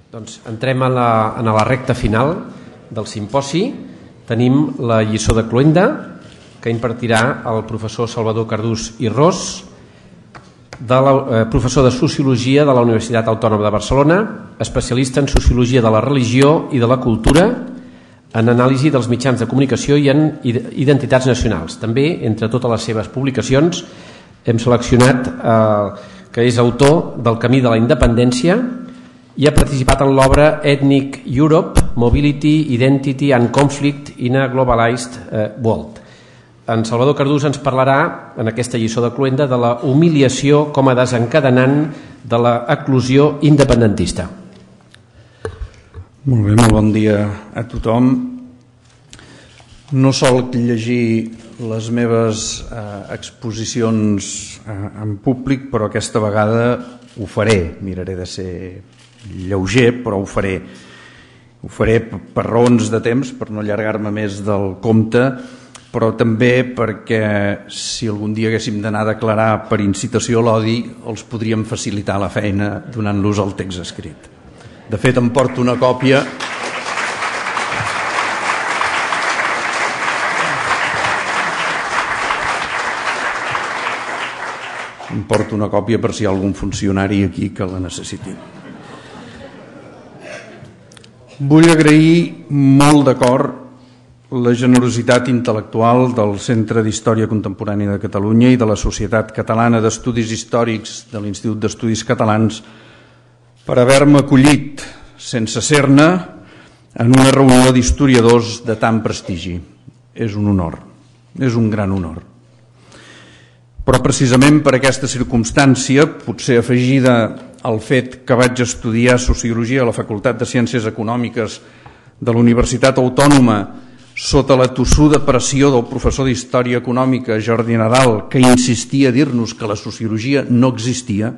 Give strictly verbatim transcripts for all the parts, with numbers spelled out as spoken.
Doncs entrem a la, a la recta final del simposi. Tenim la lliçó de cloenda que impartirà el professor Salvador Cardús i Ros, de la, eh, professor de Sociologia de la Universitat Autònoma de Barcelona, especialista en Sociologia de la Religió i de la Cultura, en anàlisi dels mitjans de comunicació i en identitats nacionals. També, entre totes les seves publicacions, hem seleccionat eh, que és autor del Camí de la Independència i ha participat en l'obra Ethnic Europe, Mobility, Identity and Conflict in a Globalized eh, World. En Salvador Cardús ens parlarà, en aquesta lliçó de cloenda, de la humiliació com a desencadenant de l'eclosió independentista. Molt bé, molt bon dia a tothom. No sol llegir les meves eh, exposicions eh, en públic, però aquesta vegada ho faré. Miraré de ser lleuger, però ho faré. Ho faré per raons de temps, per no allargar-me més del compte, però també perquè si algun dia haguéssim d'anar a declarar per incitació a l'odi, els podríem facilitar la feina donant-los el text escrit. De fet, em porto una còpia em porto una còpia per si hi ha algun funcionari aquí que la necessiti. Vull agrair molt de cor la generositat intel·lectual del Centre d'Història Contemporània de Catalunya i de la Societat Catalana d'Estudis Històrics de l'Institut d'Estudis Catalans per haver-me acollit sense ser-ne en una reunió d'historiadors de tant prestigi. És un honor, és un gran honor. Però precisament per aquesta circumstància, potser afegida al fet que vaig estudiar Sociologia a la Facultat de Ciències Econòmiques de la Universitat Autònoma sota la tossuda pressió del professor d'Història Econòmica Jordi Nadal, que insistia a dir-nos que la sociologia no existia,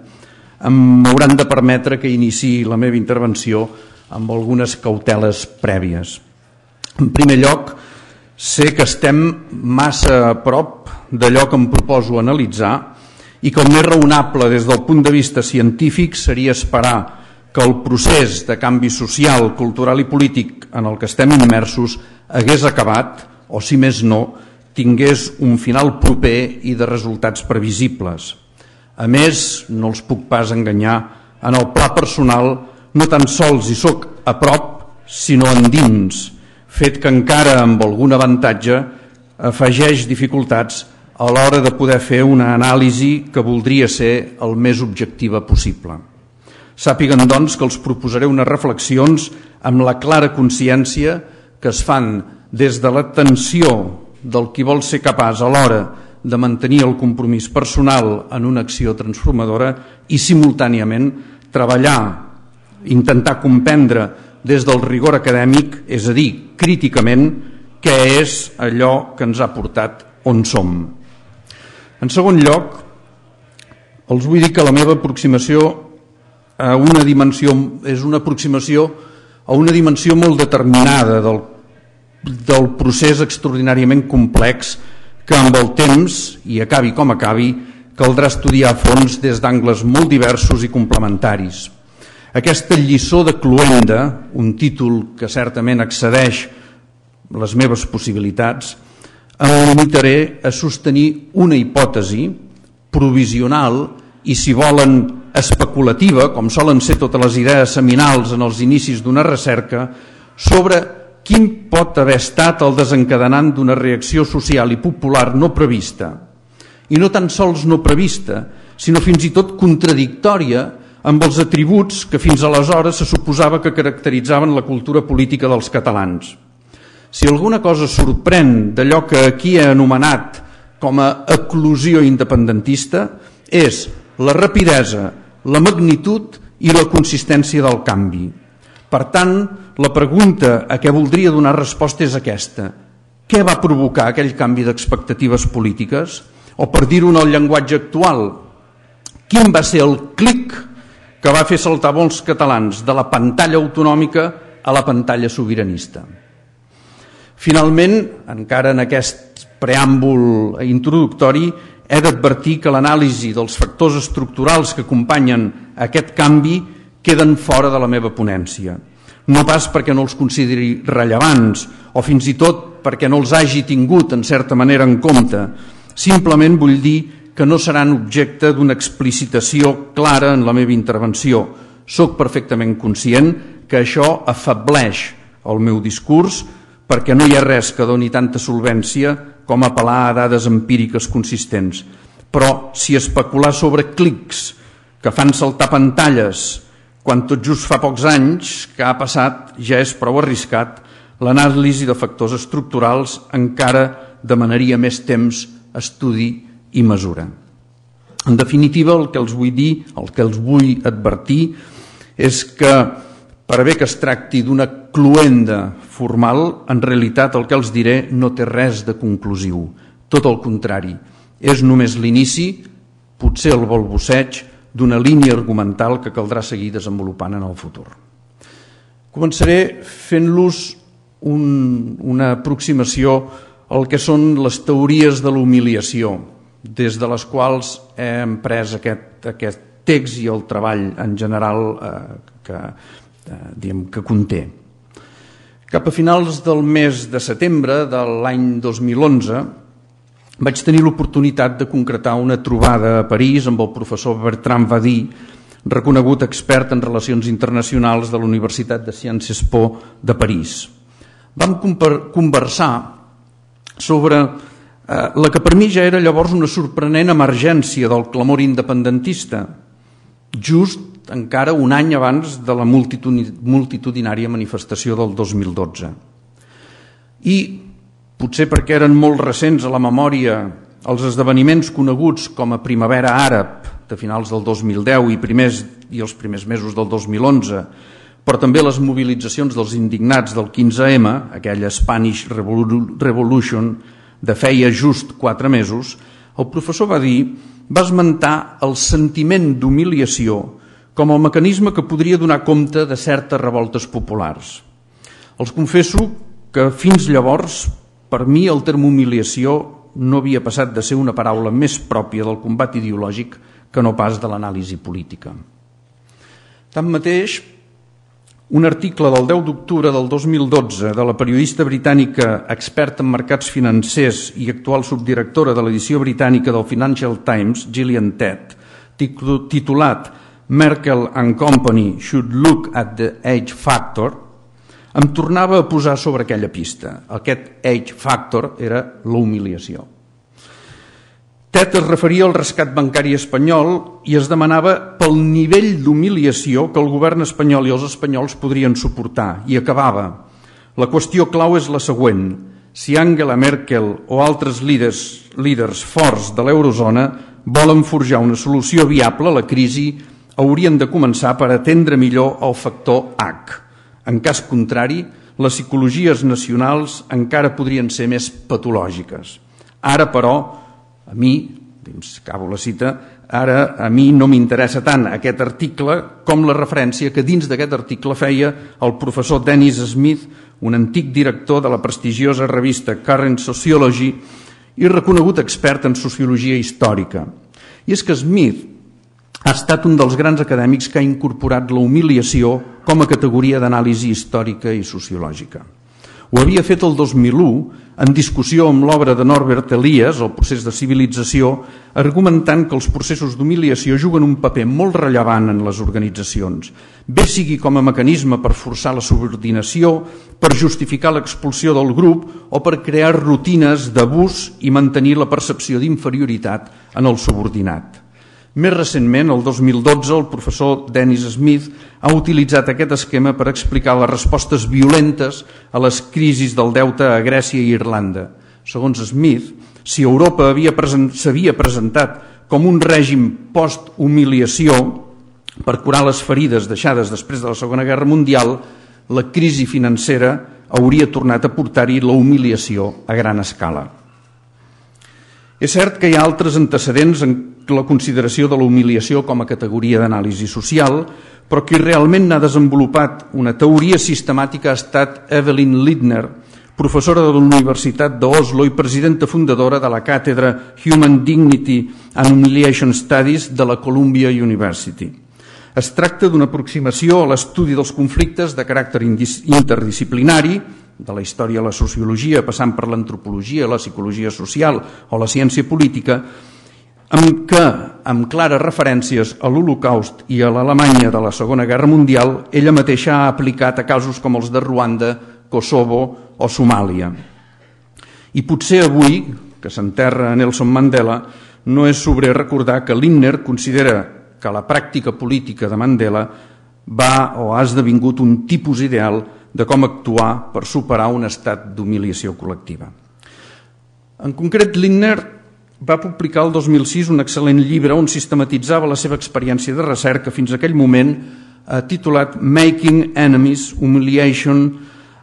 m'hauran de permetre que iniciï la meva intervenció amb algunes cauteles prèvies. En primer lloc, sé que estem massa a prop d'allò que em proposo analitzar i que el més raonable des del punt de vista científic seria esperar que el procés de canvi social, cultural i polític en el que estem immersos hagués acabat, o si més no, tingués un final proper i de resultats previsibles. A més, no els puc pas enganyar, en el pla personal no tan sols hi soc a prop, sinó endins, fet que encara amb algun avantatge afegeix dificultats a l'hora de poder fer una anàlisi que voldria ser el més objectiva possible. Sàpiguen, doncs, que els proposaré unes reflexions amb la clara consciència que es fan des de l'atenció del qui vol ser capaç a l'hora de mantenir el compromís personal en una acció transformadora i simultàniament treballar, intentar comprendre des del rigor acadèmic, és a dir, críticament, què és allò que ens ha portat on som. En segon lloc, els vull dir que la meva aproximació a una dimensió és una aproximació a una dimensió molt determinada del, del procés extraordinàriament complex que amb el temps, i acabi com acabi, caldrà estudiar a fons des d'angles molt diversos i complementaris. Aquesta lliçó de cloenda, un títol que certament excedeix les meves possibilitats, em limitaré a sostenir una hipòtesi provisional i, si volen, especulativa, com solen ser totes les idees seminals en els inicis d'una recerca, sobre quin pot haver estat el desencadenant d'una reacció social i popular no prevista, i no tan sols no prevista, sinó fins i tot contradictòria amb els atributs que fins aleshores se suposava que caracteritzaven la cultura política dels catalans. Si alguna cosa sorprèn d'allò que aquí he anomenat com a eclosió independentista és la rapidesa, la magnitud i la consistència del canvi. Per tant, la pregunta a què voldria donar resposta és aquesta. Què va provocar aquell canvi d'expectatives polítiques? O, per dir-ho en el llenguatge actual, quin va ser el clic que va fer saltar molts catalans de la pantalla autonòmica a la pantalla sobiranista? Finalment, encara en aquest preàmbul introductori, he d'advertir que l'anàlisi dels factors estructurals que acompanyen aquest canvi queden fora de la meva ponència. No pas perquè no els consideri rellevants o fins i tot perquè no els hagi tingut en certa manera en compte. Simplement vull dir que no seran objecte d'una explicitació clara en la meva intervenció. Soc perfectament conscient que això afableix el meu discurs perquè no hi ha res que doni tanta solvència com apel·lar a dades empíriques consistents. Però si especular sobre clics que fan saltar pantalles quan tot just fa pocs anys que ha passat ja és prou arriscat, l'anàlisi de factors estructurals encara demanaria més temps, estudi i mesura. En definitiva, el que els vull dir, el que els vull advertir, és que per bé que es tracti d'una cloenda formal, en realitat el que els diré no té res de conclusiu. Tot el contrari, és només l'inici, potser el balbuceig, d'una línia argumental que caldrà seguir desenvolupant en el futur. Començaré fent-los un, una aproximació al que són les teories de l'humiliació, des de les quals he emprès aquest, aquest text i el treball en general eh, que, eh, diguem, que conté. Cap a finals del mes de setembre de l'any dos mil onze vaig tenir l'oportunitat de concretar una trobada a París amb el professor Bertrand Vady, reconegut expert en relacions internacionals de la Universitat de Sciences Po de París. Vam conversar sobre eh, la que per mi ja era llavors una sorprenent emergència del clamor independentista, just encara un any abans de la multitudinària manifestació del dos mil dotze. I potser perquè eren molt recents a la memòria els esdeveniments coneguts com a Primavera Àrab de finals del dos mil deu i, primers, i els primers mesos del dos mil onze, però també les mobilitzacions dels indignats del quinze ema, aquella Spanish Revolution de feia just quatre mesos, el professor Vady va esmentar el sentiment d'humiliació com el mecanisme que podria donar compte de certes revoltes populars. Els confesso que fins llavors per mi el terme humiliació no havia passat de ser una paraula més pròpia del combat ideològic que no pas de l'anàlisi política. Tanmateix, un article del deu d'octubre del dos mil dotze de la periodista britànica experta en mercats financers i actual subdirectora de l'edició britànica del Financial Times, Gillian Tett, titulat Merkel and Company should look at the age factor, em tornava a posar sobre aquella pista. Aquest age factor era la humiliació. Tett es referia al rescat bancari espanyol i es demanava pel nivell d'humiliació que el govern espanyol i els espanyols podrien suportar, i acabava: la qüestió clau és la següent: si Angela Merkel o altres líders, líders forts de l'eurozona volen forjar una solució viable a la crisi, haurien de començar per atendre millor el factor H. En cas contrari, les psicologies nacionals encara podrien ser més patològiques. Ara, però, a mi, acabo la cita, ara a mi no m'interessa tant aquest article com la referència que dins d'aquest article feia el professor Dennis Smith, un antic director de la prestigiosa revista Current Sociology i reconegut expert en sociologia històrica. I és que Smith ha estat un dels grans acadèmics que ha incorporat la humiliació com a categoria d'anàlisi històrica i sociològica. Ho havia fet el dos mil u en discussió amb l'obra de Norbert Elias, El procés de civilització, argumentant que els processos d'humiliació juguen un paper molt rellevant en les organitzacions, bé sigui com a mecanisme per forçar la subordinació, per justificar l'expulsió del grup o per crear rutines d'abús i mantenir la percepció d'inferioritat en el subordinat. Més recentment, el dos mil dotze, el professor Dennis Smith ha utilitzat aquest esquema per explicar les respostes violentes a les crisis del deute a Grècia i Irlanda. Segons Smith, si Europa s'havia present, presentat com un règim post-humiliació per curar les ferides deixades després de la Segona Guerra Mundial, la crisi financera hauria tornat a portar-hi la humiliació a gran escala. És cert que hi ha altres antecedents en la consideració de la humiliació com a categoria d'anàlisi social, però qui realment n'ha desenvolupat una teoria sistemàtica ha estat Evelyn Lindner, professora de la Universitat d'Oslo i presidenta fundadora de la càtedra Human Dignity and Humiliation Studies de la Columbia University. Es tracta d'una aproximació a l'estudi dels conflictes de caràcter interdisciplinari, de la història a la sociologia, passant per l'antropologia, la psicologia social o la ciència política, amb què, amb clares referències a l'Holocaust i a l'Alemanya de la Segona Guerra Mundial, ella mateixa ha aplicat a casos com els de Ruanda, Kosovo o Somàlia. I potser avui, que s'enterra Nelson Mandela, no és sobrer recordar que Lindner considera que la pràctica política de Mandela va o ha esdevingut un tipus ideal de com actuar per superar un estat d'humiliació col·lectiva. En concret, Lindner va publicar el dos mil sis un excel·lent llibre on sistematitzava la seva experiència de recerca fins a aquell moment, titulat Making Enemies, Humiliation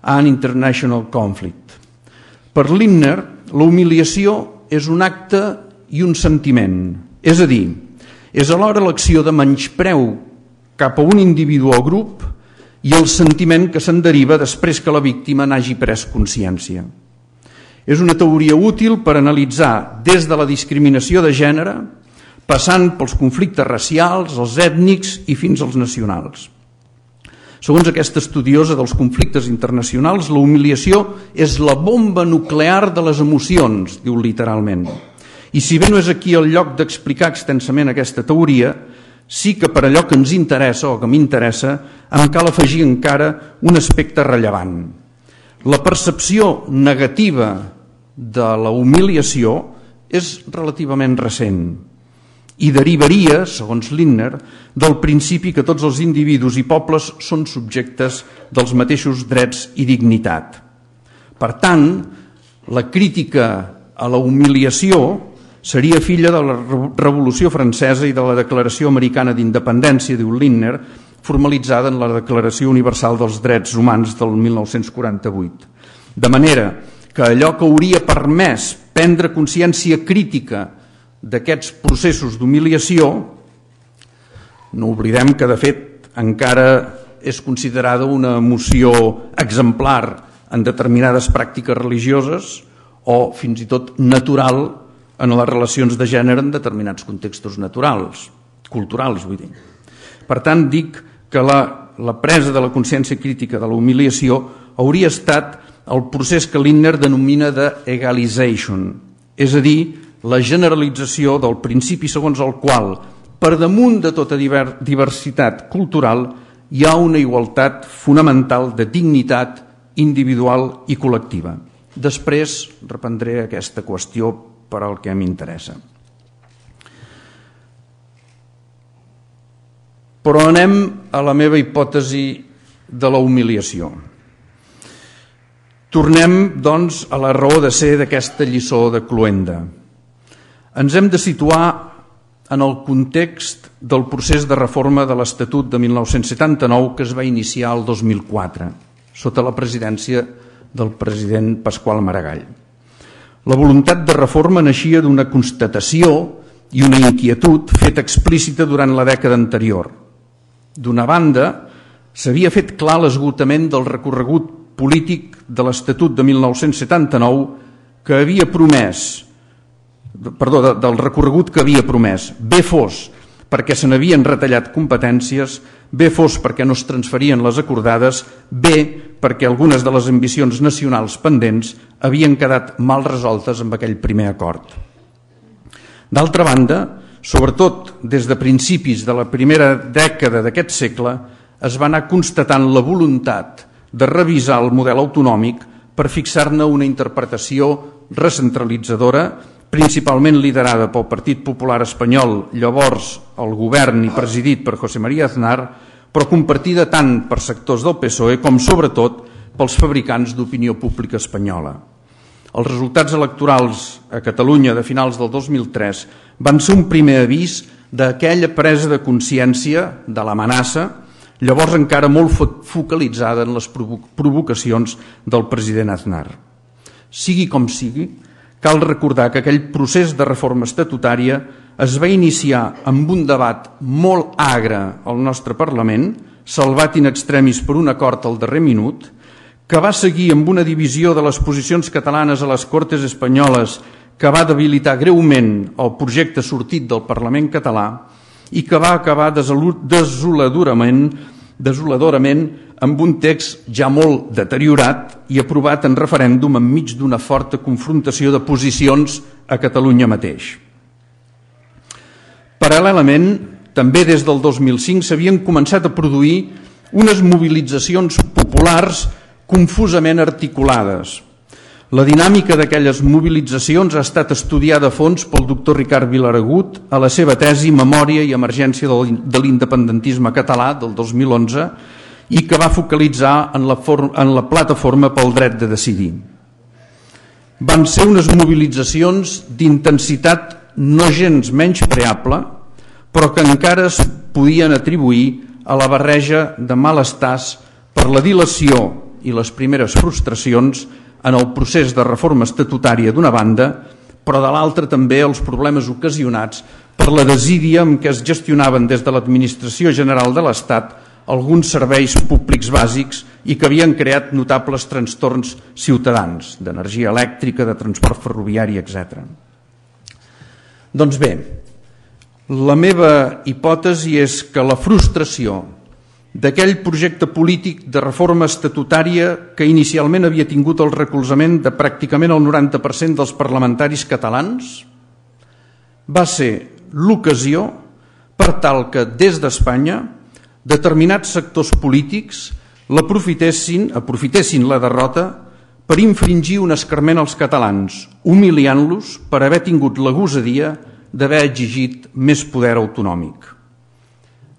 and International Conflict. Per Lindner, la humiliació és un acte i un sentiment, és a dir, és alhora l'acció de menyspreu cap a un individu o grup i el sentiment que se'n deriva després que la víctima n'hagi pres consciència. És una teoria útil per analitzar des de la discriminació de gènere, passant pels conflictes racials, els ètnics i fins als nacionals. Segons aquesta estudiosa dels conflictes internacionals, la humiliació és la bomba nuclear de les emocions, diu literalment. I si bé no és aquí el lloc d'explicar extensament aquesta teoria, sí que per allò que ens interessa o que m'interessa em cal afegir encara un aspecte rellevant. La percepció negativa de la humiliació és relativament recent i derivaria, segons Lindner, del principi que tots els individus i pobles són subjectes dels mateixos drets i dignitat. Per tant, la crítica a la humiliació seria filla de la Revolució Francesa i de la Declaració Americana d'Independència, diu Lindner, formalitzada en la Declaració Universal dels Drets Humans del mil nou-cents quaranta-vuit. De manera que allò que hauria permès prendre consciència crítica d'aquests processos d'humiliació, no oblidem que de fet encara és considerada una emoció exemplar en determinades pràctiques religioses o fins i tot natural en les relacions de gènere en determinats contextos naturals, culturals, vull dir. Per tant, dic que la, la presa de la consciència crítica de la humiliació hauria estat el procés que Lindner denomina de egalization, és a dir, la generalització del principi segons el qual, per damunt de tota diversitat cultural, hi ha una igualtat fonamental de dignitat individual i col·lectiva. Després reprendré aquesta qüestió per al que m'interessa. Però anem a la meva hipòtesi de la humiliació. Tornem, doncs, a la raó de ser d'aquesta lliçó de cloenda. Ens hem de situar en el context del procés de reforma de l'Estatut de mil nou-cents setanta-nou que es va iniciar el dos mil quatre, sota la presidència del president Pasqual Maragall. La voluntat de reforma naixia d'una constatació i una inquietud feta explícita durant la dècada anterior. D'una banda, s'havia fet clar l'esgotament del recorregut polític de l'Estatut de mil nou-cents setanta-nou que havia promès, perdó, del recorregut que havia promès, bé fos perquè se n'havien retallat competències, bé fos perquè no es transferien les acordades, bé perquè algunes de les ambicions nacionals pendents havien quedat mal resoltes amb aquell primer acord. D'altra banda, sobretot des de principis de la primera dècada d'aquest segle, es va anar constatant la voluntat de revisar el model autonòmic per fixar-ne una interpretació recentralitzadora, principalment liderada pel Partit Popular Espanyol, llavors el govern i presidit per José María Aznar, però compartida tant per sectors del P S O E com, sobretot, pels fabricants d'opinió pública espanyola. Els resultats electorals a Catalunya de finals del dos mil tres van ser un primer avís d'aquella presa de consciència de l'amenaça, llavors encara molt focalitzada en les provocacions del president Aznar. Sigui com sigui, cal recordar que aquell procés de reforma estatutària es va iniciar amb un debat molt agre al nostre Parlament, salvat in extremis per un acord al darrer minut, que va seguir amb una divisió de les posicions catalanes a les Cortes espanyoles que va debilitar greument el projecte sortit del Parlament català i que va acabar desoladorament, desoladorament amb un text ja molt deteriorat i aprovat en referèndum enmig d'una forta confrontació de posicions a Catalunya mateix. Paral·lelament, també des del dos mil cinc s'havien començat a produir unes mobilitzacions populars confusament articulades. La dinàmica d'aquelles mobilitzacions ha estat estudiada a fons pel doctor Ricard Vilaragut a la seva tesi Memòria i emergència de l'independentisme català del dos mil onze i que va focalitzar en la, en la plataforma pel dret de decidir. Van ser unes mobilitzacions d'intensitat no gens menyspreable, però que encara es podien atribuir a la barreja de malestars per la dilació i les primeres frustracions en el procés de reforma estatutària d'una banda, però de l'altra també els problemes ocasionats per la desídia amb què es gestionaven des de l'Administració General de l'Estat alguns serveis públics bàsics i que havien creat notables trastorns ciutadans, d'energia elèctrica, de transport ferroviari, etcètera. Doncs bé, la meva hipòtesi és que la frustració d'aquell projecte polític de reforma estatutària que inicialment havia tingut el recolzament de pràcticament el noranta per cent dels parlamentaris catalans va ser l'ocasió per tal que des d'Espanya determinats sectors polítics l'aprofitessin, aprofitessin la derrota per infringir un escarment als catalans, humiliant-los per haver tingut la gosadia d'haver exigit més poder autonòmic.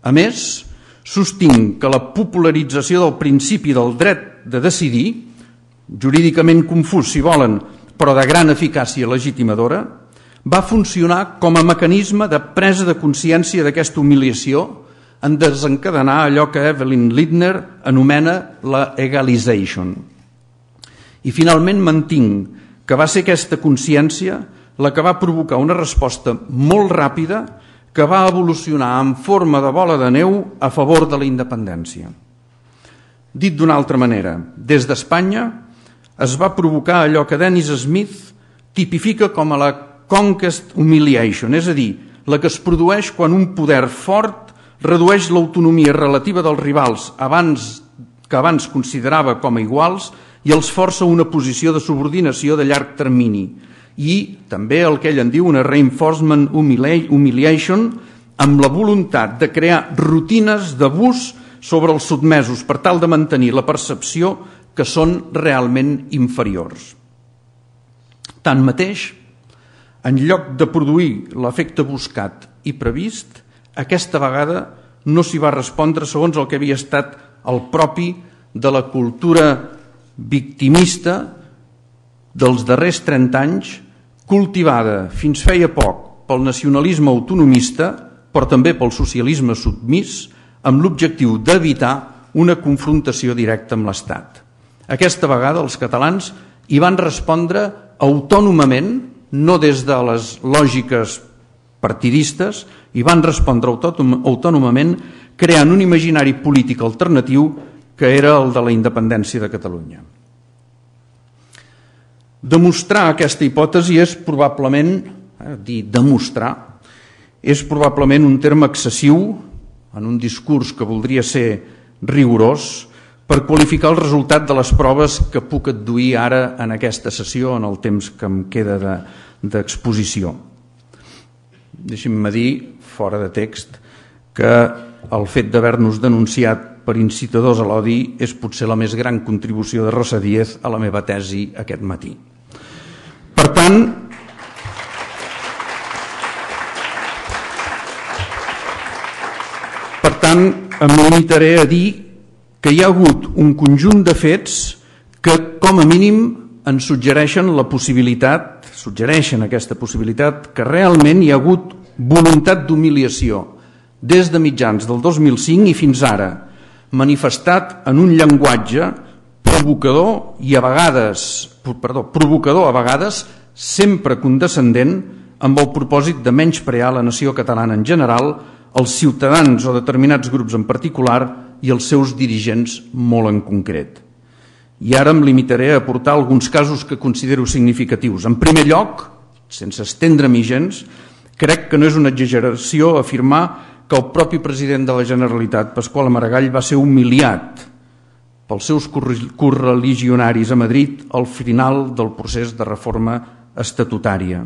A més, sostinc que la popularització del principi del dret de decidir, jurídicament confús si volen, però de gran eficàcia legitimadora, va funcionar com a mecanisme de presa de consciència d'aquesta humiliació en desencadenar allò que Evelyn Lindner anomena la egalization. I finalment mantinc que va ser aquesta consciència la que va provocar una resposta molt ràpida que va evolucionar en forma de bola de neu a favor de la independència. Dit d'una altra manera, des d'Espanya es va provocar allò que Dennis Smith tipifica com a la conquest humiliation, és a dir, la que es produeix quan un poder fort redueix l'autonomia relativa dels rivals abans que abans considerava com a iguals i els força a una posició de subordinació de llarg termini, i també el que ell en diu una reinforcement humiliation amb la voluntat de crear rutines d'abús sobre els sotmesos per tal de mantenir la percepció que són realment inferiors. Tanmateix, en lloc de produir l'efecte buscat i previst, aquesta vegada no s'hi va respondre segons el que havia estat el propi de la cultura victimista dels darrers trenta anys, cultivada fins feia poc pel nacionalisme autonomista, però també pel socialisme submís, amb l'objectiu d'evitar una confrontació directa amb l'Estat. Aquesta vegada els catalans hi van respondre autònomament, no des de les lògiques partidistes, hi van respondre autònomament creant un imaginari polític alternatiu que era el de la independència de Catalunya. Demostrar aquesta hipòtesi és probablement, eh, dir demostrar, és probablement un terme excessiu en un discurs que voldria ser rigorós per qualificar el resultat de les proves que puc adduir ara en aquesta sessió, en el temps que em queda de, d'exposició. Deixi'm dir, fora de text, que el fet d'haver-nos denunciat per incitadors a l'odi és potser la més gran contribució de Rosa Díez a la meva tesi aquest matí. Per tant, per tant, em limitaré a dir que hi ha hagut un conjunt de fets que, com a mínim, ens suggereixen la possibilitat, suggereixen aquesta possibilitat, que realment hi ha hagut voluntat d'humiliació des de mitjans del dos mil cinc i fins ara, manifestat en un llenguatge provocador i a vegades, perdó, provocador a vegades, sempre condescendent amb el propòsit de menysprear la nació catalana en general, els ciutadans o determinats grups en particular i els seus dirigents molt en concret. I ara em limitaré a aportar alguns casos que considero significatius. En primer lloc, sense estendre-m'hi gens, crec que no és una exageració afirmar que el propi president de la Generalitat, Pasqual Maragall, va ser humiliat pels seus correligionaris a Madrid al final del procés de reforma estatutària.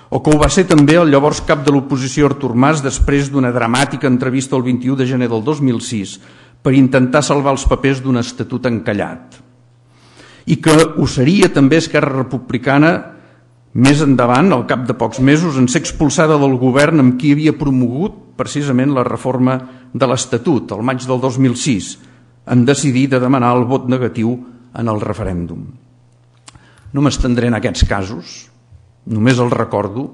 O que ho va ser també el llavors cap de l'oposició Artur Mas després d'una dramàtica entrevista el vint-i-u de gener del dos mil sis per intentar salvar els papers d'un estatut encallat. I que ho seria també Esquerra Republicana més endavant, al cap de pocs mesos, en ser expulsada del govern amb qui havia promogut precisament la reforma de l'Estatut, el maig del dos mil sis, en decidir de demanar el vot negatiu en el referèndum. No m'estendré en aquests casos, només els recordo,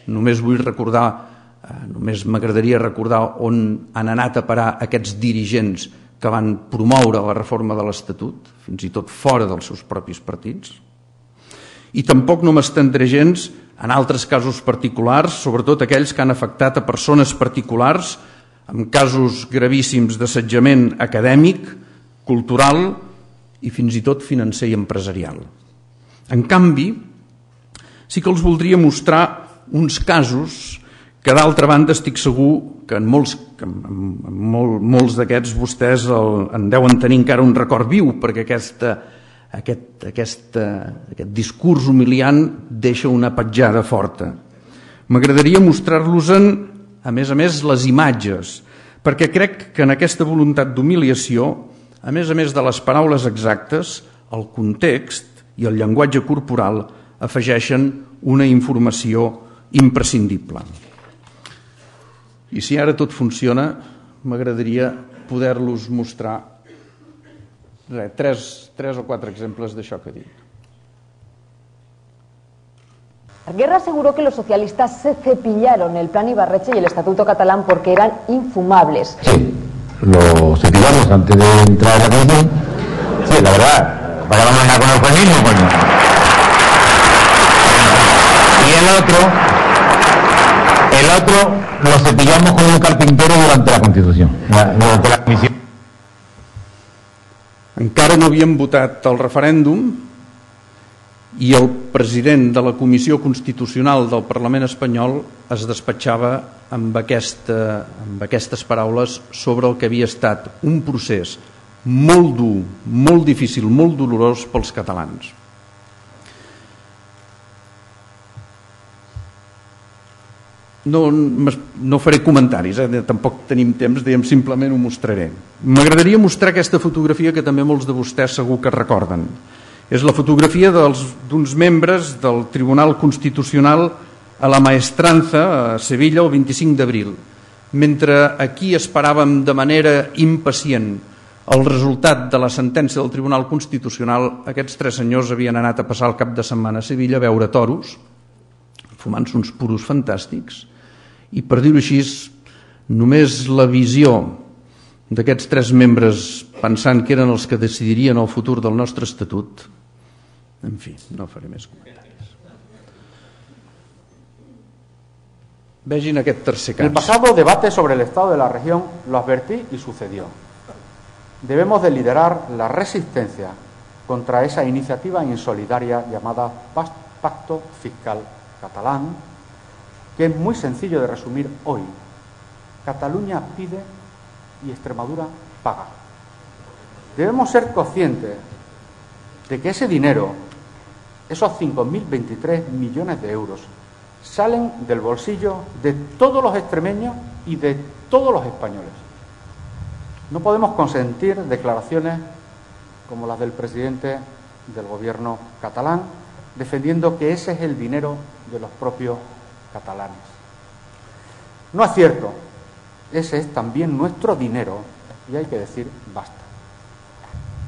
només vull recordar, eh, només m'agradaria recordar on han anat a parar aquests dirigents que van promoure la reforma de l'Estatut, fins i tot fora dels seus propis partits. I tampoc no m'estendré gens en altres casos particulars, sobretot aquells que han afectat a persones particulars, amb casos gravíssims d'assetjament acadèmic, cultural i fins i tot financer i empresarial. En canvi, sí que els voldria mostrar uns casos que d'altra banda estic segur que en molts, en molt, molts d'aquests vostès el, en deuen tenir encara un record viu, perquè aquesta, aquest, aquesta, aquest discurs humiliant deixa una petjada forta. M'agradaria mostrar-los-en, a més a més, les imatges, perquè crec que en aquesta voluntat d'humiliació, a més a més de les paraules exactes, el context i el llenguatge corporal afegeixen una informació imprescindible. I si ara tot funciona, m'agradaria poder-los mostrar res, tres, tres o quatre exemples d'això que dic. Guerra aseguró que los socialistas se cepillaron el plan Ibarretxe y el Estatuto catalán porque eran infumables. Sí, lo cepillamos antes de entrar a la comisión. Sí, la verdad, vayamos a con el eufemismo, coño. Y el otro, el otro lo cepillamos con un carpintero durante la Constitución, durante la comisión. Encara no havíem votat el referèndum i el president de la Comissió Constitucional del Parlament espanyol es despatxava amb, aquesta, amb aquestes paraules sobre el que havia estat un procés molt dur, molt difícil, molt dolorós pels catalans. No, no faré comentaris, eh? Tampoc tenim temps, diguem, simplement ho mostraré. M'agradaria mostrar aquesta fotografia que també molts de vostès segur que recorden. És la fotografia d'uns membres del Tribunal Constitucional a la Maestranza, a Sevilla, el vint-i-cinc d'abril. Mentre aquí esperàvem de manera impacient el resultat de la sentència del Tribunal Constitucional, aquests tres senyors havien anat a passar el cap de setmana a Sevilla a veure toros, fumant-se uns puros fantàstics, i per dir-ho així, només la visió d'aquests tres membres pensant que eren els que decidirien el futur del nostre estatut, en fi, no faré més comentaris. Vegin aquest tercer cas. El pasado debate sobre el estado de la región lo advertí y sucedió. Debemos de liderar la resistencia contra esa iniciativa insolidaria llamada Pacto Fiscal Catalán, que es muy sencillo de resumir hoy. Cataluña pide y Extremadura paga. Debemos ser conscientes de que ese dinero, esos cinco mil veintitrés millones de euros, salen del bolsillo de todos los extremeños y de todos los españoles. No podemos consentir declaraciones como las del presidente del gobierno catalán, defendiendo que ese es el dinero de los propios catalanes. No es cierto, ese es también nuestro dinero y hay que decir basta.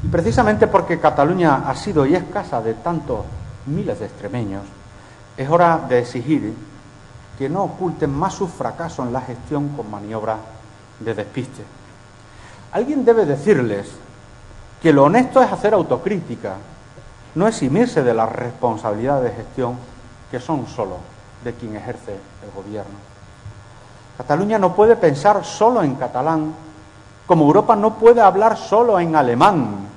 Y precisamente porque Cataluña ha sido y es casa de tantos miles de extremeños, es hora de exigir que no oculten más su fracaso en la gestión con maniobras de despiste. Alguien debe decirles que lo honesto es hacer autocrítica, no eximirse de las responsabilidades de gestión que son solo de quien ejerce el gobierno. Cataluña no puede pensar solo en catalán, como Europa no puede hablar solo en alemán.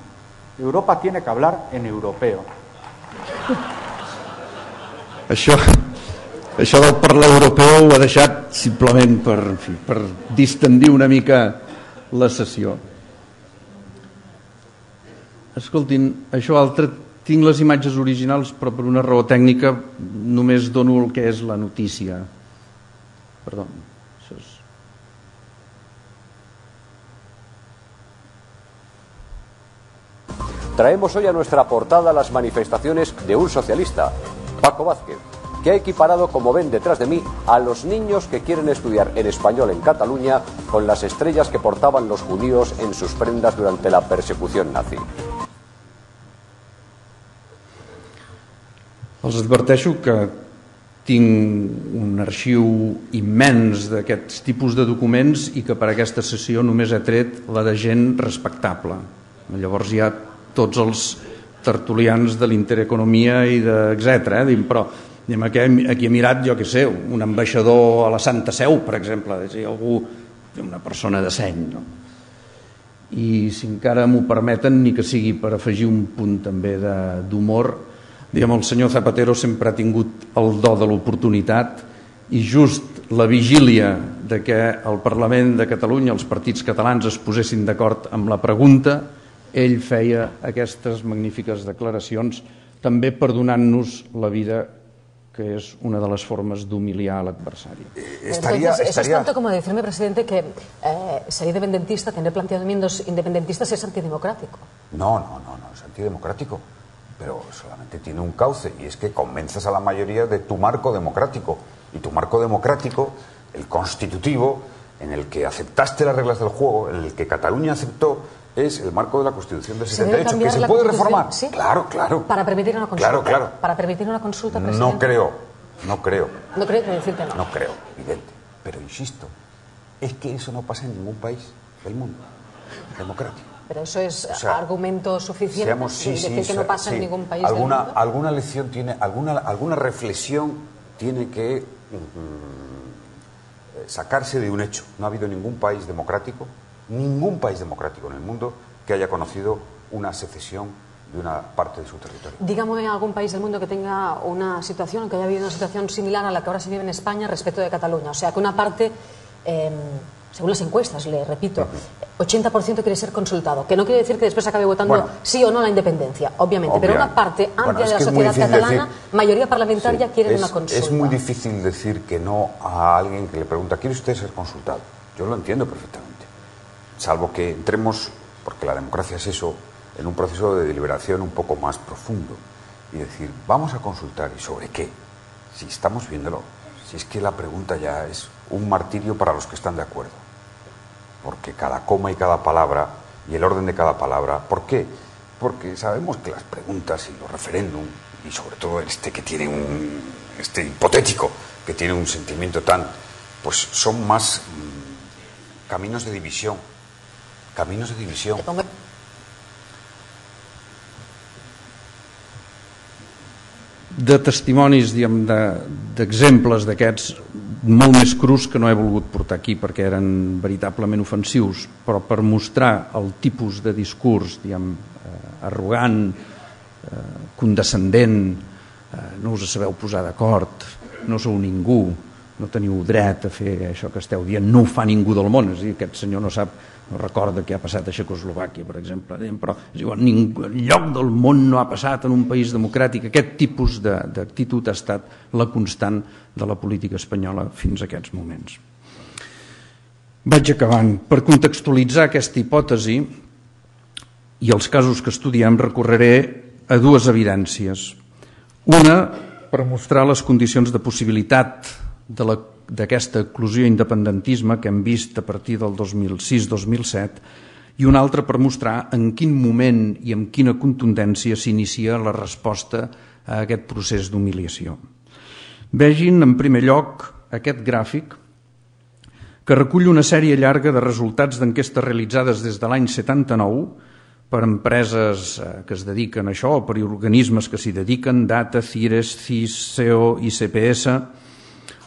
Europa tiene que hablar en europeo. Això, Això del parlar europeu ho ha deixat simplement per, en fi, per distendir una mica la sessió. Escoltin, això altre, tinc les imatges originals, però per una raó tècnica només dono el que és la notícia. Perdó, això és... Traemos hoy a nuestra portada las manifestaciones de un socialista, Paco Vázquez, que ha equiparado, como ven detrás de mí, a los niños que quieren estudiar en español en Cataluña con las estrellas que portaban los judíos en sus prendas durante la persecución nazi. Els adverteixo que tinc un arxiu immens d'aquests tipus de documents i que per aquesta sessió només he tret la de gent respectable. Llavors hi ha tots els tertulians de l'Intereconomia i etcètera. Eh? Però aquí, aquí he mirat, jo què sé, un ambaixador a la Santa Seu, per exemple, és a dir, algú, una persona de seny. No? I si encara m'ho permeten, ni que sigui per afegir un punt també d'humor, diguem, el senyor Zapatero sempre ha tingut el do de l'oportunitat i just la vigília de que el Parlament de Catalunya, els partits catalans es posessin d'acord amb la pregunta, ell feia aquestes magnífiques declaracions, també perdonant-nos la vida, que es una de las formas de humiliar al adversario. Estaría, Entonces, eso estaría... es tanto como decirme, presidente, que eh, ser independentista, tener planteamientos independentistas es antidemocrático. No, no, no, no, es antidemocrático, pero solamente tiene un cauce, y es que convenzas a la mayoría de tu marco democrático. Y tu marco democrático, el constitutivo, en el que aceptaste las reglas del juego, en el que Cataluña aceptó, es el marco de la Constitución del setenta y ocho, que se puede reformar. ¿Sí? Claro, claro. Para permitir una consulta. Claro, claro. Para permitir una consulta, presidente. No creo, no creo. No creo, decirte no. No creo, evidente. Pero insisto, es que eso no pasa en ningún país del mundo democrático. Pero eso es o sea, argumento suficiente seamos, sí, de decir sí, que no pasa sí. en ningún país alguna, del mundo. Alguna lección tiene, alguna, alguna reflexión tiene que mm, sacarse de un hecho. No ha habido ningún país democrático, ningún país democrático en el mundo que haya conocido una secesión de una parte de su territorio. Dígame algún país del mundo que tenga una situación, que haya habido una situación similar a la que ahora se vive en España respecto de Cataluña. O sea, que una parte, eh, según las encuestas, le repito, ochenta por ciento quiere ser consultado. Que no quiere decir que después acabe votando bueno, sí o no la independencia, obviamente. Obvia. Pero una parte amplia bueno, de la sociedad catalana, decir, mayoría parlamentaria, sí, quiere es, una consulta. Es muy difícil decir que no a alguien que le pregunta, ¿quiere usted ser consultado? Yo lo entiendo perfectamente. Salvo que entremos, porque la democracia es eso, en un proceso de deliberación un poco más profundo y decir, vamos a consultar, ¿y sobre qué? Si estamos viéndolo, si es que la pregunta ya es un martirio para los que están de acuerdo, porque cada coma y cada palabra y el orden de cada palabra, ¿por qué? Porque sabemos que las preguntas y los referéndum, y sobre todo este que tiene un, este hipotético, que tiene un sentimiento tan, pues son más mmm, caminos de división, caminos de división. De testimonis, diguem, d'exemples d'aquests molt més crus que no he volgut portar aquí perquè eren veritablement ofensius, però per mostrar el tipus de discurs, diguem, eh, arrogant, eh, condescendent, eh, no us sabeu posar d'acord, no sou ningú, no teniu dret a fer això que esteu dient, no ho fa ningú del món, és a dir, aquest senyor no sap, no recorda què ha passat a Txecoslovàquia, per exemple, però és igual, en lloc del món no ha passat en un país democràtic. Aquest tipus d'actitud ha estat la constant de la política espanyola fins a aquests moments. Vaig acabant. Per contextualitzar aquesta hipòtesi i els casos que estudiem recorreré a dues evidències. Una, per mostrar les condicions de possibilitat de la d'aquesta eclosió independentisme que hem vist a partir del dos mil sis dos mil set i una altra per mostrar en quin moment i amb quina contundència s'inicia la resposta a aquest procés d'humiliació. Vegin en primer lloc aquest gràfic que recull una sèrie llarga de resultats d'enquestes realitzades des de l'any setanta-nou per empreses que es dediquen a això o per organismes que s'hi dediquen, Data, Cires, C I S, C E O i C P S,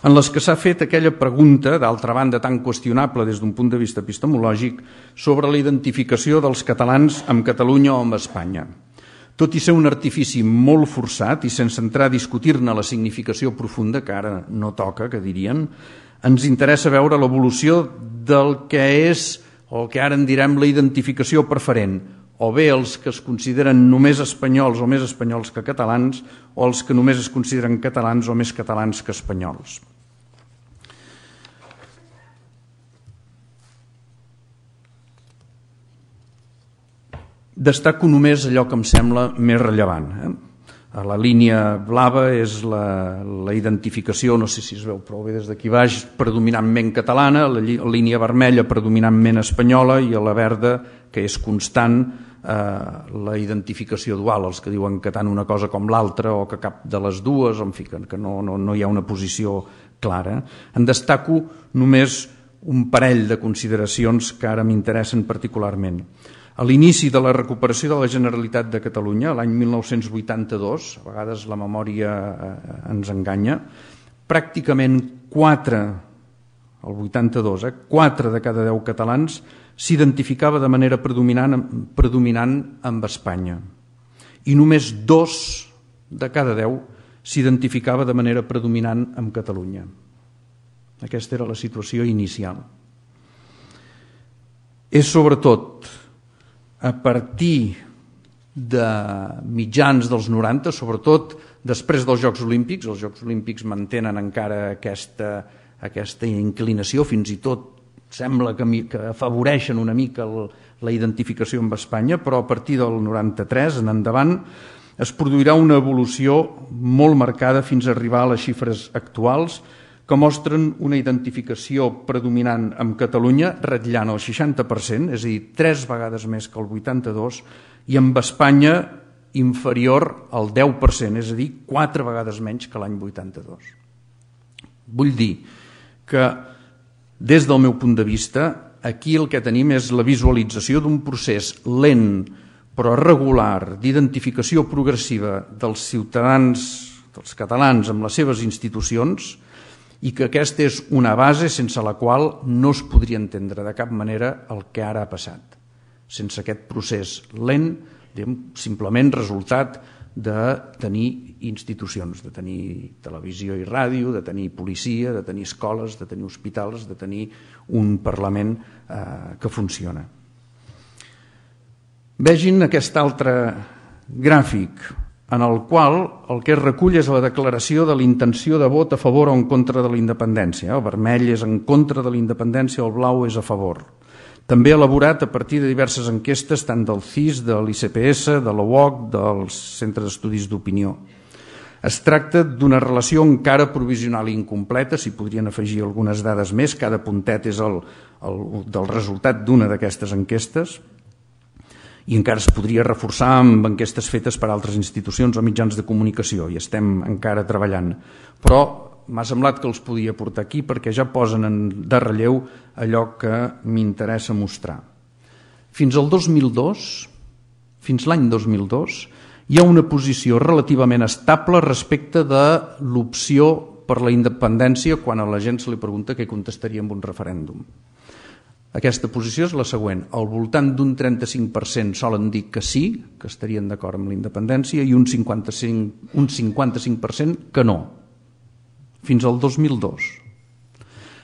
en les que s'ha fet aquella pregunta, d'altra banda tan qüestionable des d'un punt de vista epistemològic, sobre la identificació dels catalans amb Catalunya o amb Espanya. Tot i ser un artifici molt forçat i sense entrar a discutir-ne la significació profunda, que ara no toca, que dirien, ens interessa veure l'evolució del que és, o que ara en direm, la identificació preferent, o bé els que es consideren només espanyols o més espanyols que catalans, o els que només es consideren catalans o més catalans que espanyols. Destaco només allò que em sembla més rellevant. Eh? La línia blava és la, la identificació, no sé si es veu prou bé des d'aquí baix, predominantment catalana, la línia vermella predominantment espanyola i a la verda, que és constant, eh, la identificació dual, els que diuen que tant una cosa com l'altra o que cap de les dues, en fi, que no, no, no hi ha una posició clara. En destaco només un parell de consideracions que ara m'interessen particularment. A l'inici de la recuperació de la Generalitat de Catalunya, l'any mil nou-cents vuitanta-dos, a vegades la memòria ens enganya, pràcticament quatre, el vuitanta-dos, eh, quatre de cada deu catalans s'identificava de manera predominant, predominant amb Espanya. I només dos de cada deu s'identificava de manera predominant amb Catalunya. Aquesta era la situació inicial. És sobretot a partir de mitjans dels noranta, sobretot després dels Jocs Olímpics, els Jocs Olímpics mantenen encara aquesta, aquesta inclinació, fins i tot sembla que, que afavoreixen una mica el, la identificació amb Espanya, però a partir del noranta-tres en endavant es produirà una evolució molt marcada fins a arribar a les xifres actuals, que mostren una identificació predominant amb Catalunya, ratllant el seixanta per cent, és a dir, tres vegades més que el vuitanta-dos, i amb Espanya inferior al deu per cent, és a dir, quatre vegades menys que l'any vuitanta-dos. Vull dir que, des del meu punt de vista, aquí el que tenim és la visualització d'un procés lent però regular d'identificació progressiva dels ciutadans, dels catalans amb les seves institucions, i que aquesta és una base sense la qual no es podria entendre de cap manera el que ara ha passat. Sense aquest procés lent, simplement resultat de tenir institucions, de tenir televisió i ràdio, de tenir policia, de tenir escoles, de tenir hospitals, de tenir un Parlament eh, que funciona. Vegin aquest altre gràfic, en el qual el que es recull és la declaració de l'intenció de vot a favor o en contra de la independència. El vermell és en contra de la independència, el blau és a favor. També elaborat a partir de diverses enquestes, tant del C I S, de l'I C P S, de l'O O C, dels Centres d'Estudis d'Opinió. Es tracta d'una relació encara provisional i incompleta, s'hi podrien afegir algunes dades més, cada puntet és el, el, del resultat d'una d'aquestes enquestes, i encara es podria reforçar amb enquestes fetes per altres institucions o mitjans de comunicació, i estem encara treballant. Però m'ha semblat que els podia portar aquí perquè ja posen de relleu allò que m'interessa mostrar. Fins al dos mil dos, fins l'any dos mil dos, hi ha una posició relativament estable respecte de l'opció per la independència quan a la gent se li pregunta què contestaria amb un referèndum. Aquesta posició és la següent. Al voltant d'un trenta-cinc per cent solen dir que sí, que estarien d'acord amb la independència, i un cinquanta-cinc, un cinquanta-cinc per cent que no. Fins al dos mil dos.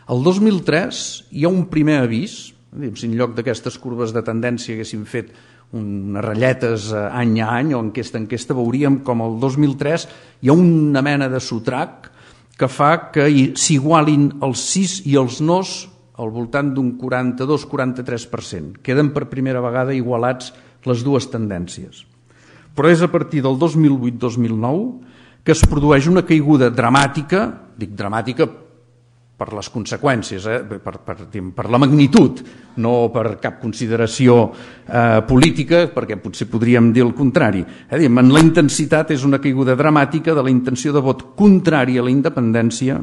El dos mil tres hi ha un primer avís, si en lloc d'aquestes curves de tendència haguéssim fet unes ratlletes any a any o enquesta a enquesta, veuríem com el dos mil tres hi ha una mena de sotrac que fa que s'igualin els sís i els nos al voltant d'un quaranta-dos quaranta-tres per cent. Queden per primera vegada igualats les dues tendències. Però és a partir del dos mil vuit dos mil nou que es produeix una caiguda dramàtica, dic dramàtica per les conseqüències, eh? per, per, per la magnitud, no per cap consideració eh, política, perquè potser podríem dir el contrari. Eh? En la intensitat és una caiguda dramàtica de la intenció de vot contrari a la independència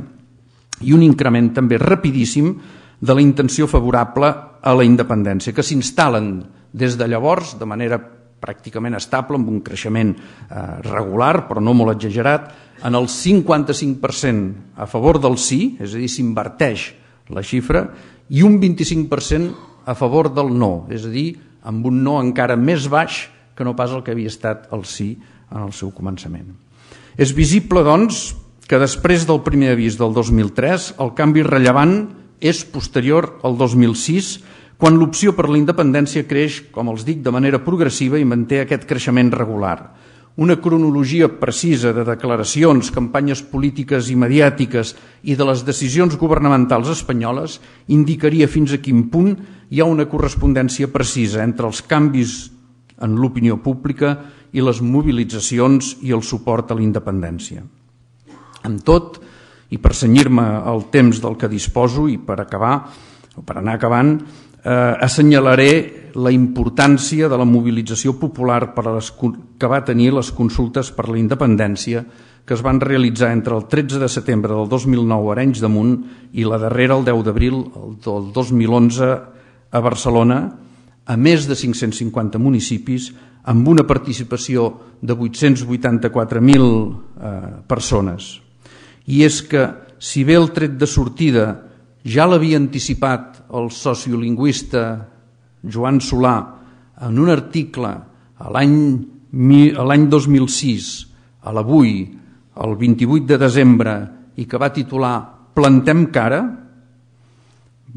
i un increment també rapidíssim de la intenció favorable a la independència, que s'instal·len des de llavors de manera pràcticament estable, amb un creixement eh, regular, però no molt exagerat, en el cinquanta-cinc per cent a favor del sí, és a dir, s'inverteix la xifra, i un vint-i-cinc per cent a favor del no, és a dir, amb un no encara més baix que no pas el que havia estat el sí en el seu començament. És visible, doncs, que després del primer avís del dos mil tres, el canvi rellevant és posterior al dos mil sis, quan l'opció per la independència creix, com els dic, de manera progressiva i manté aquest creixement regular. Una cronologia precisa de declaracions, campanyes polítiques i mediàtiques i de les decisions governamentals espanyoles indicaria fins a quin punt hi ha una correspondència precisa entre els canvis en l'opinió pública i les mobilitzacions i el suport a la independència. Amb tot, i per cenyir-me al temps del que disposo i per acabar, o per anar acabant, eh, assenyalaré la importància de la mobilització popular per a les, que va tenir les consultes per la independència que es van realitzar entre el tretze de setembre del dos mil nou a Arenys de Munt i la darrera el deu d'abril del dos mil onze a Barcelona, a més de cinc-cents cinquanta municipis, amb una participació de vuit-cents vuitanta-quatre mil eh, persones. I és que, si bé el tret de sortida ja l'havia anticipat el sociolingüista Joan Solà en un article a l'any dos mil sis, a l'Avui, el vint-i-vuit de desembre, i que va titular Plantem cara,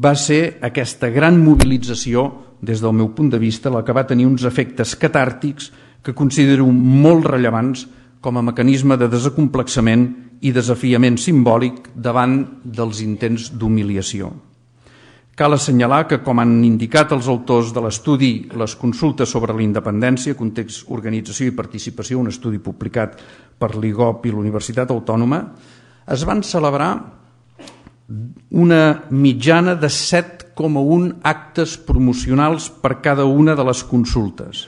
va ser aquesta gran mobilització, des del meu punt de vista, la que va tenir uns efectes catàrtics que considero molt rellevants com a mecanisme de desacomplexament i desafiament simbòlic davant dels intents d'humiliació. Cal assenyalar que, com han indicat els autors de l'estudi Les consultes sobre la independència, context, organització i participació, un estudi publicat per l'I G O P i l'Universitat Autònoma, es van celebrar una mitjana de set coma un actes promocionals per cada una de les consultes,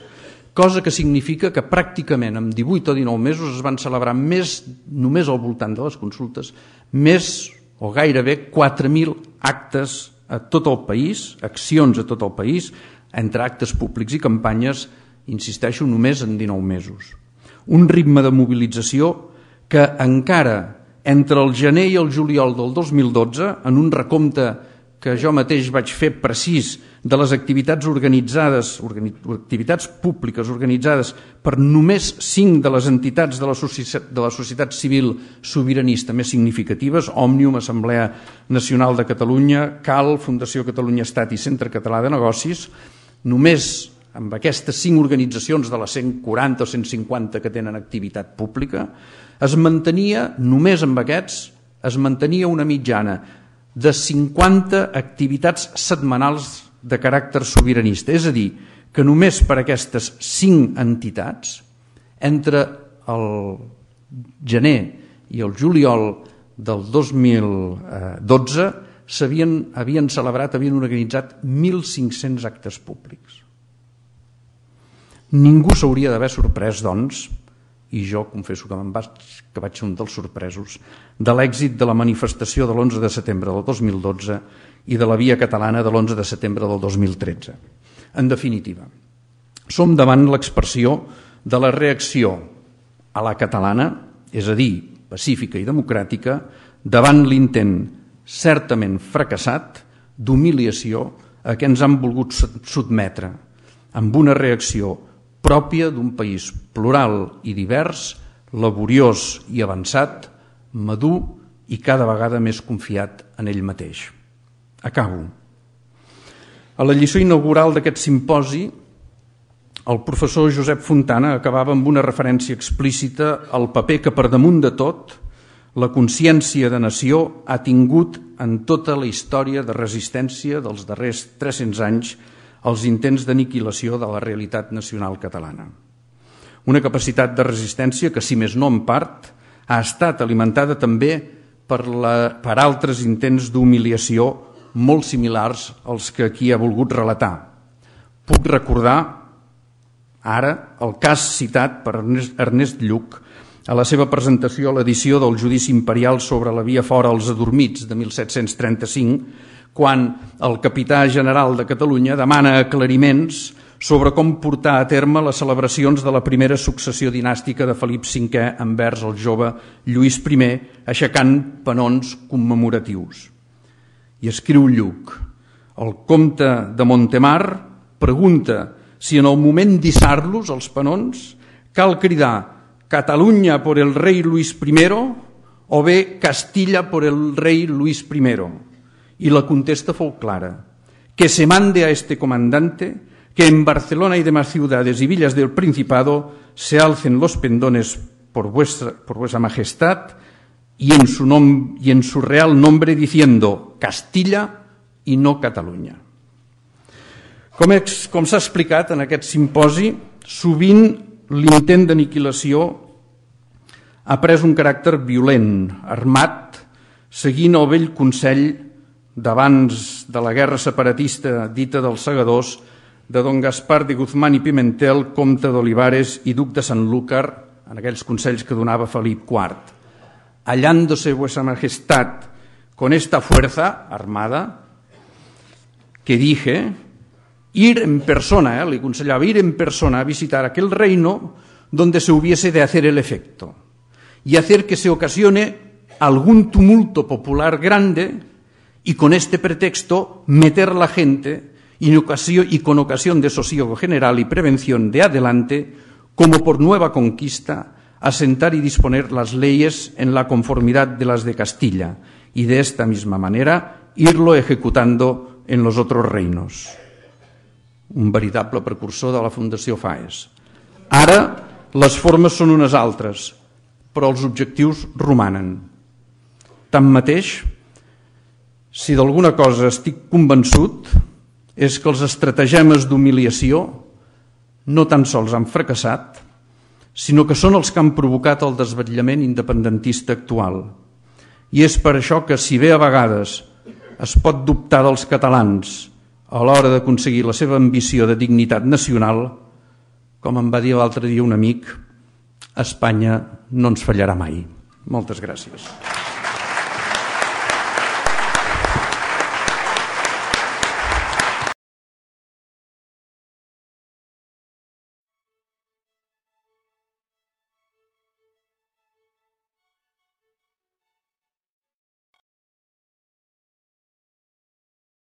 cosa que significa que pràcticament en divuit o dinou mesos es van celebrar més, només al voltant de les consultes, més o gairebé quatre mil actes a tot el país, accions a tot el país, entre actes públics i campanyes, insisteixo, només en dinou mesos. Un ritme de mobilització que encara entre el gener i el juliol del dos mil dotze, en un recompte que jo mateix vaig fer precís de les activitats organitzades, activitats públiques organitzades per només cinc de les entitats de la societat, de la societat civil sobiranista més significatives, Òmnium, Assemblea Nacional de Catalunya, C A L, Fundació Catalunya Estat i Centre Català de Negocis, només amb aquestes cinc organitzacions de les cent quaranta o cent cinquanta que tenen activitat pública, es mantenia, només amb aquests, es mantenia una mitjana de cinquanta activitats setmanals de caràcter sobiranista. És a dir, que només per aquestes cinc entitats, entre el gener i el juliol del dos mil dotze, s'havien havien celebrat, havien organitzat mil cinc-cents actes públics. Ningú s'hauria d'haver sorprès, doncs, i jo confesso que, vaig, que vaig ser un dels sorpresos, de l'èxit de la manifestació de l'onze de setembre del dos mil dotze i de la Via Catalana de l'onze de setembre del dos mil tretze. En definitiva, som davant l'expressió de la reacció a la catalana, és a dir, pacífica i democràtica, davant l'intent certament fracassat d'humiliació a què ens han volgut sotmetre, amb una reacció pròpia d'un país plural i divers, laboriós i avançat, madur i cada vegada més confiat en ell mateix. Acabo. A la lliçó inaugural d'aquest simposi, el professor Josep Fontana acabava amb una referència explícita al paper que, per damunt de tot, la consciència de nació ha tingut en tota la història de resistència dels darrers tres-cents anys als intents d'aniquilació de la realitat nacional catalana. Una capacitat de resistència que, si més no en part, ha estat alimentada també per, la, per altres intents d'humiliació molt similars als que aquí ha volgut relatar. Puc recordar ara el cas citat per Ernest Lluch a la seva presentació a l'edició del Judici Imperial sobre la via fora als adormits de mil set-cents trenta-cinc, quan el capità general de Catalunya demana aclariments sobre com portar a terme les celebracions de la primera successió dinàstica de Felip cinquè envers el jove Lluís primer, aixecant penons commemoratius. I escriu Lluch: el comte de Montemar pregunta si en el moment d'issar-los, els penons, cal cridar Catalunya por el rei Luis primero o bé Castilla por el rei Luis primero. Y la contesta fue clara, que se mande a este comandante que en Barcelona y demás ciudades y villas del Principado se alcen los pendones por vuestra, por vuestra majestad y en, su nom, y en su real nombre diciendo Castilla y no Catalunya. Com, com s'ha explicat en aquest simposi, sovint l'intent d'aniquilació ha pres un caràcter violent, armat, seguint el vell consell d'abans de la guerra separatista dita dels segadors de don Gaspar de Guzmán i Pimentel, comte d'Olivares i duc de Sanlúcar, en aquells consells que donava Felip quart. Hallándose vuestra majestad con esta fuerza armada, que dije, ir en persona, eh, le aconsellaba ir en persona a visitar aquel reino donde se hubiese de hacer el efecto y hacer que se ocasione algún tumulto popular grande y con este pretexto meter a la gente y, ocasión, y con ocasión de sosiego general y prevención de adelante, como por nueva conquista, asentar y disponer las leyes en la conformidad de las de Castilla y de esta misma manera irlo ejecutando en los otros reinos. Un veritable precursor de la Fundació Faes. Ara les formes són unes altres, però els objectius romanen. Tanmateix, si d'alguna cosa estic convençut és que els estratagemes d'humiliació no tan sols han fracassat, sinó que són els que han provocat el desvetllament independentista actual. I és per això que, si bé a vegades es pot dubtar dels catalans a l'hora d'aconseguir la seva ambició de dignitat nacional, com em va dir l'altre dia un amic, Espanya no ens fallarà mai. Moltes gràcies.